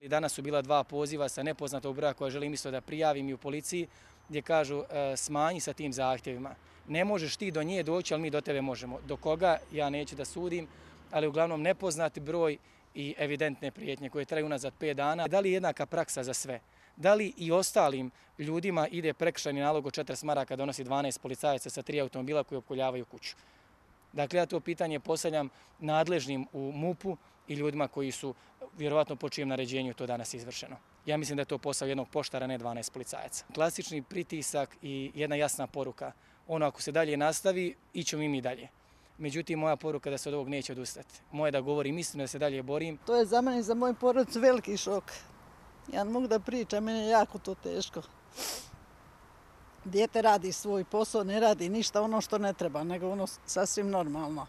Danas su bila 2 poziva sa nepoznatog broja koja želim isto da prijavim i u policiji, gdje kažu smanji sa tim zahtjevima. Ne možeš ti do nje doći, ali mi do tebe možemo. Do koga, ja neću da sudim, ali uglavnom nepoznati broj i evidentne prijetnje koje traju unazad 5 dana. Da li je jednaka praksa za sve? Da li i ostalim ljudima ide prekršajni nalog od 40 maraka donosi 12 policajaca sa 3 automobila koji opkoljavaju kuću? Dakle, ja to pitanje postavljam nadležnim u MUP-u i ljudima koji su vjerovatno po čijem naređenju to danas izvršeno. Ja mislim da je to posao jednog poštara, ne 12 policajaca. Klasični pritisak i jedna jasna poruka. Ono ako se dalje nastavi, ićemo i mi dalje. Međutim, moja poruka da se od ovog neće odustati. Moje da govorim istinu, da se dalje borim. To je za mene i za moju porodicu veliki šok. Ja ne mogu da pričam, meni je jako to teško. Dijete radi svoj posao, ne radi ništa ono što ne treba, nego ono sasvim normalno.